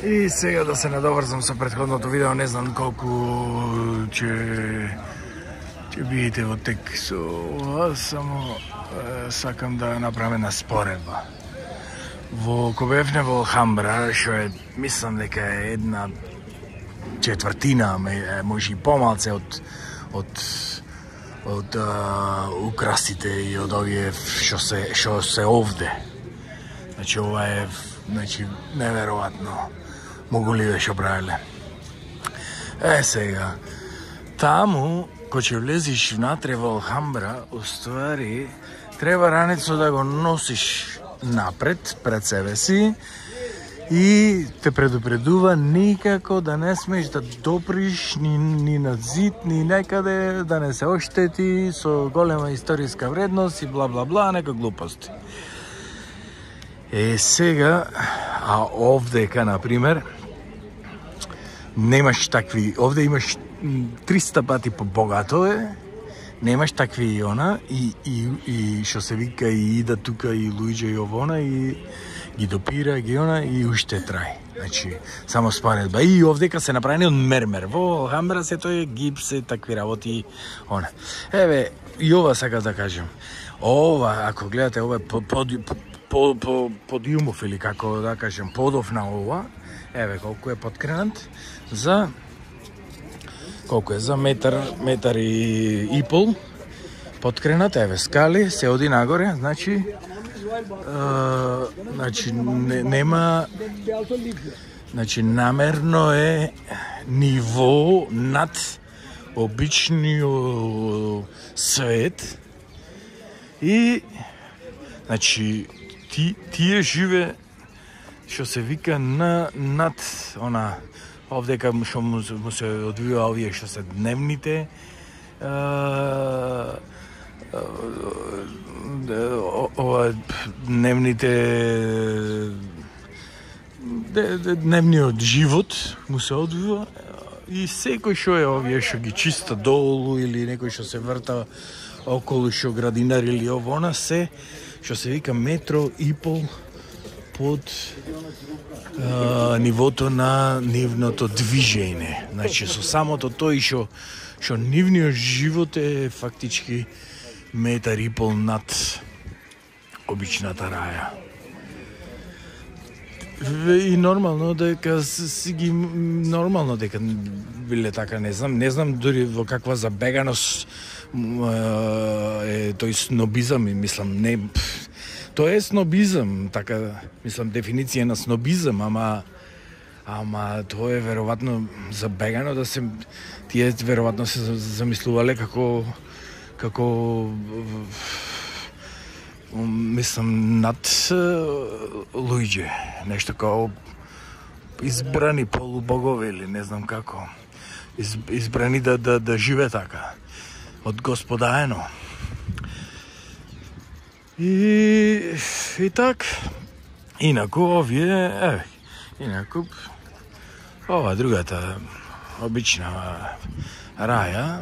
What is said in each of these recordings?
И сега да се надоврзам со претходното видео, не знам колку ќе бидете во тек со ова, само сакам да направам една споредба. Кога бевме во Алхамбра, што е, мислам дека е една четвртина, може и помалце од украсите и од овие што се овде. Значи ова е неверојатно. Могу ли што правиле? Сега, таму, кога ќе влезиш внатре во Алхамбра, уствари, треба ранецо да го носиш напред, пред себе си, и те предупредува никако да не смеш да доприш ни на зид, ни некаде, да не се оштети со голема историска вредност и бла-бла-бла, нека глупости. Сега, а овдека, например, немаш такви, овде имаш 300 пати побогато е, немаш такви и она, и што се вика, и ида тука, и луѓе и овона, и ги допира, ги она, и уште трај. Значи, само споредба. И овдека се направени од мермер. Во Алхамбра се тој гипс, такви работи, она. Еве, и ова сакам да кажем. Ова, ако гледате, ова подиумов, или како да кажем, подов на ова, еве колку е подкренат, за колку е, за метар и пол подкренат, еве скали, се оди нагоре, значи нема, значи намерно е ниво над обичниот свет, и значи тие живе, што се вика, над она, овдека што му се одвива овие што се дневните, дневниот живот му се одвива, и секој што е овие што ги чиста долу, или некој што се врта околу, што градинар или овона, се што се вика метро и пол под нивото на нивното движење. Значи, со самото тој што нивниот живот е фактички метар и пол над обичната раја. И нормално дека нормално дека биле така, не знам дури во каква забеганост е тој снобизам, и мислам, не, тоа е снобизам, така, мислам, дефиниција на снобизам, ама тоа е веројатно забегано, да се, тие веројатно се замислувале како мислам, над луѓе, нешто како избрани полубогови, или не знам како, избрани да живе така, од Господаено. И так, инаку овие, инаку ова другата обична раја,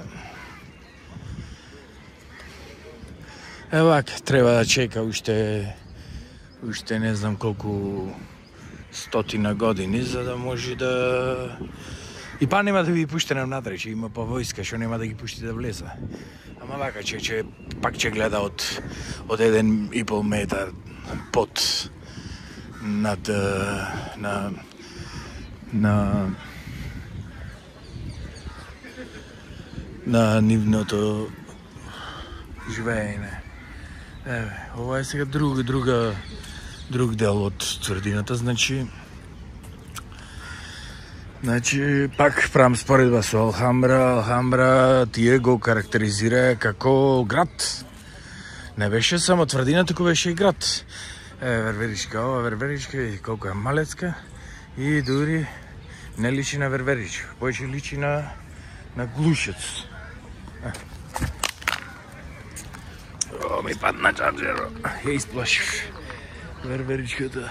евак, треба да чека уште не знам колку стотина години, за да може да... И па нема да ви пуштена внатре, че има па војска, што нема да ги пушти да влезе. Ама вака, че пак ќе гледа од 1,5 метар под над на нивното живеење. Еве, ова е сега друг дел од тврдината, значи пак правам споредба со Алхамбра. Алхамбра тие го карактеризира како град. Не беше само тврдина, туку беше и град. Верверичка, ова Верверичка, и колку е малецка, и дури не личи на Верверич, појќе личи на Глушец. Ми падна чарджеро, ја исплашив Верверичката.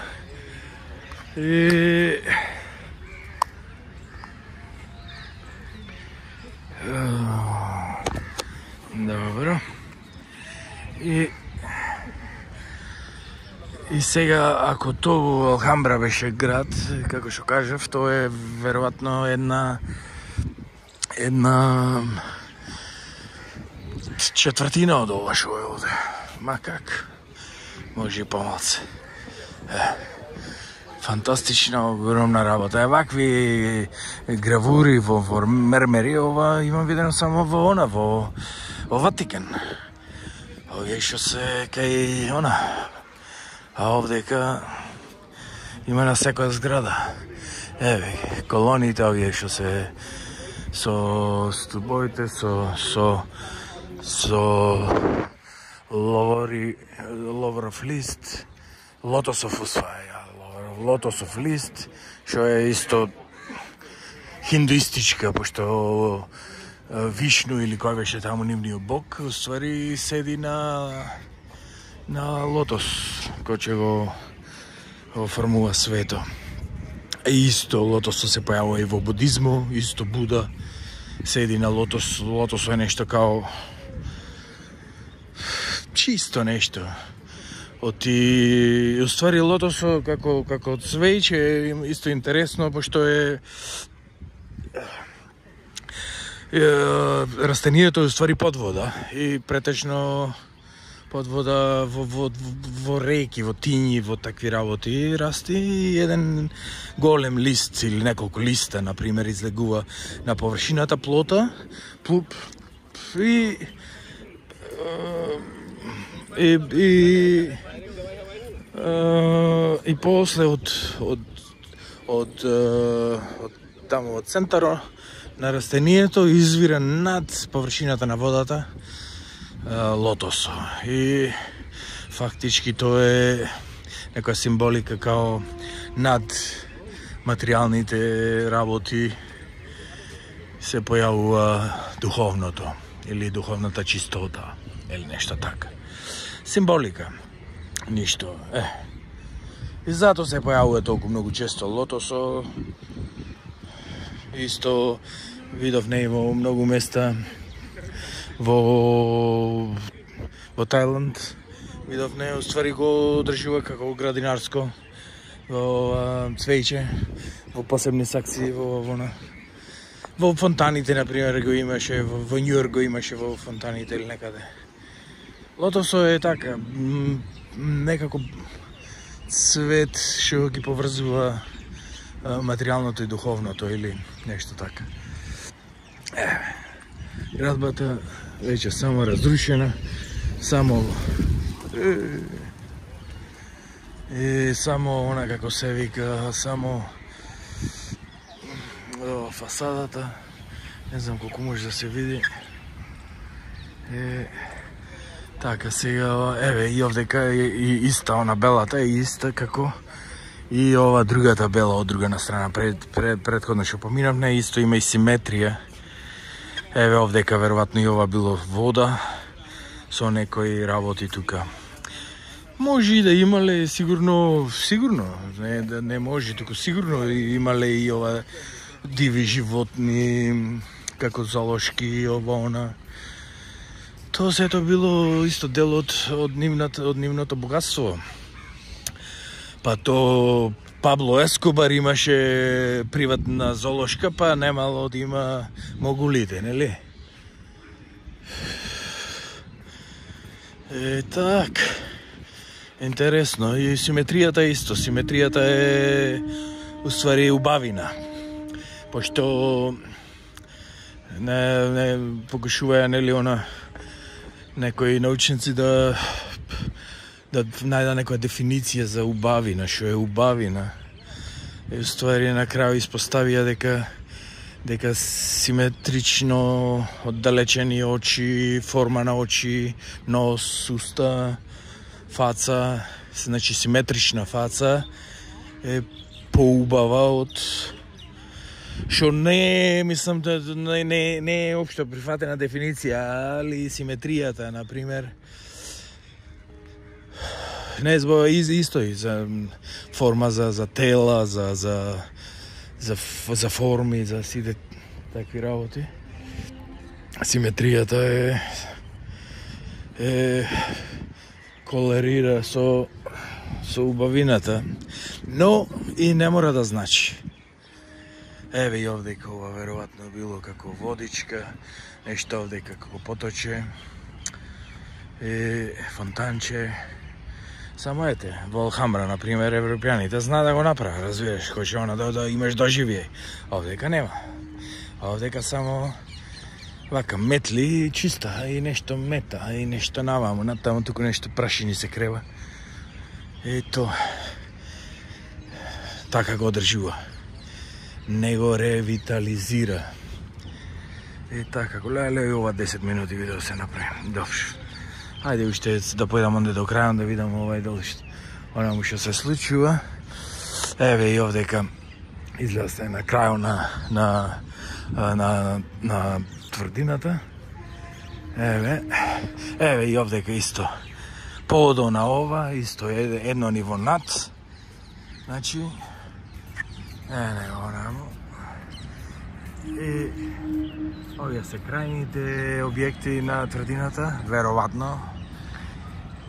Добро. И Сега, ако тоа Алхамбра беше град, како што кажав, тоа е веројатно една четвртина од ова што е овде. Ма как? Може и помалце. Фантастична, огромна работа. Вакви гравури во мермери, ова имам видено само во Ватикан. Овие што се кај а овдека има на секоја зграда. Еве, колоните овие што се со стубовите, со ловоров лист, лотосов лотосов лист, што е исто хиндуистичка, пошто Вишну или кој беше таму нивниот бог, уствари седи на лотос, кој ќе го формува свето. И исто лотосот се појавува и во будизму, исто Буда седи на лотос. Лотосот е нешто као чисто нешто. Уствари лотосот како цвеќе е исто интересно, пошто е растението уствари под вода и претежно под вода во реки, во тињи, во такви работи расти еден голем лист или неколку листа, например, излегува на површината плота, и после од таму од центарот на растението извира над површината на водата лотосо. И фактички тоа е некоја символика као над материјалните работи се појавува духовното или духовната чистота или нешто така. Символика. Ништо. И затоа се појавува толку многу често лотосо. Исто видов не во многу места во Тајланд. Видов не, уствари го одржува како градинарско во цвеќе, во посебни сакции во фонтаните, например, го имаше, во Њујорк го имаше во фонтаните или некаде. Лотосо е така, некако цвет што ги поврзува материјалното и духовното или нешто така. Градбата веќе само разрушена, само она како се вика, само фасадата, не знам колку може да се види. Така, сега, еве, и овдека и иста, она белата е иста како и ова другата бела од друга страна. Предходно што поминавме, исто има и симетрија. Еве, овдека веројатно и ова било вода со некои работи тука. Може и да имале, сигурно, не може, туку сигурно имале и ова диви животни, како зоолошки, ова, она. Тоа сето било исто дел од нивното богатство. Па то Пабло Ескобар имаше приватна зоолошка, па немало да има могулите, нели? Так. Интересно. И симетријата исто. Симетријата е уствари убавина. Пошто не покушуваја, нели, некои научници да најда некоја дефиниција за убавина, што е убавина. И уствари на крај испоставија дека симетрично оддалечени очи, форма на очи, нос, уста, фаца, значи симетрична фаца е поубава од што не, мислам, не е општо прифатена дефиниција, али симетријата, например, не збо исто и за форма за тела, за форми, за сите такви работи. Симетријата е колерира со со убавината, но и не мора да значи. Еве и овдека ова веројатно било како водичка, нешто овдека како поточе, фонтанче. Само ете, во Алхамбра, например, европјаните зна да го направи, разбираш, кој ќе да имаш доживје. Овдека нема. Овдека само вака метли и чиста, и нешто мета, и нешто наваму, натаму туку нешто прашини се крева. Ето, така го одржува. Не го ревитализира. И така, леле, ова 10 минути видео се направи. Добро. Ајде уште да појдам онде до крајот да видам овај дали онаму што се случува. Еве и овдека изгледа се на крајот на тврдината. Еве и овдека исто. Подо на ова, исто едно ниво над. Значи, онаму. И овие се крајните објекти на тврдината, веројатно.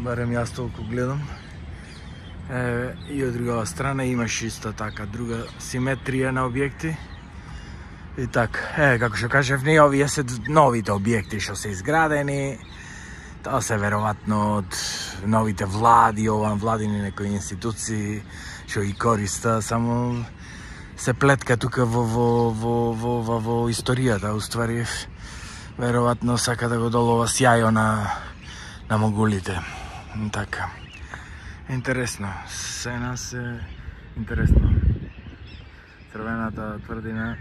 Барем јас толку гледам. И од другава страна имаш исто така друга симетрија на објекти. И така, како што кажев, не овие се новите објекти што се изградени. Тоа се веројатно од новите влади, владини некои институции што ги користа, само се плетка тука во историјата, уствари веројатно сака да го долова сјајо на могулите. Така. Интересно, се нас е интересно. Црвената тврдина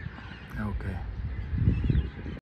е окей.